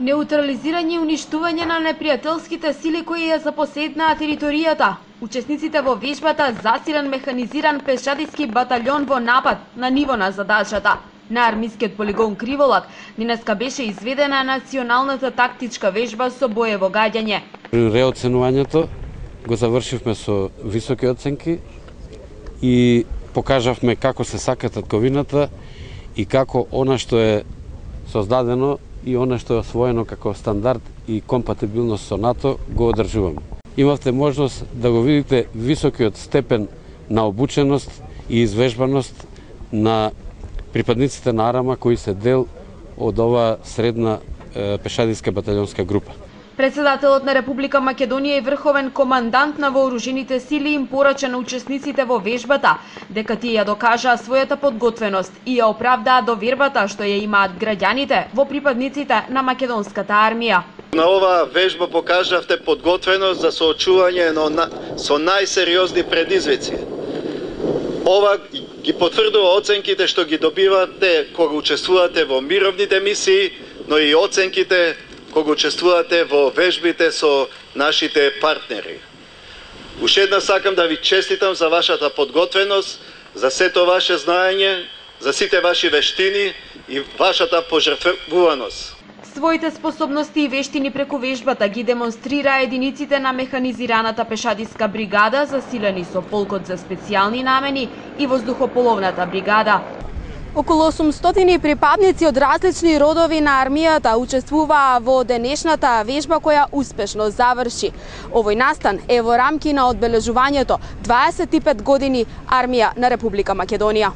Неутрализирање и уништување на непријателските сили кои ја запоседнаа територијата. Учесниците во вежбата засилен механизиран пешадиски батальон во напад на ниво на задачата. На армискиот полигон Криволак денеска беше изведена националната тактичка вежба со боево гаѓање. Реоценувањето го завршивме со високи оценки и покажавме како се сака татковината и како она што е создадено и она што е освоено како стандард и компатибилност со НАТО го одржуваме. Имавте можност да го видите високиот степен на обученост и извежбаност на припадниците на Арама кои се дел од оваа средна пешадиска батальонска група. Председателот на Република Македонија и врховен командант на вооружените сили им порача на учесниците во вежбата дека тие ја докажаа својата подготвеност и ја оправдаа довербата што ја имаат граѓаните во припадниците на македонската армија. На оваа вежба покажавте подготвеност за соочување со најсериозни предизвици. Ова ги потврдува оценките што ги добивате кога учествувате во мировните мисии, но и оценките кога учествувате во вежбите со нашите партнери. Уште еднаш сакам да ви честитам за вашата подготвеност, за сето ваше знаење, за сите ваши вештини и вашата пожртвуваност. Своите способности и вештини преку вежбата ги демонстрираа единиците на механизираната пешадиска бригада, засилени со полкот за специјални намени и воздухополовната бригада. Околу 800 припадници од различни родови на армијата учествуваа во денешната вежба која успешно заврши. Овој настан е во рамки на одбележувањето 25 години армија на Република Македонија.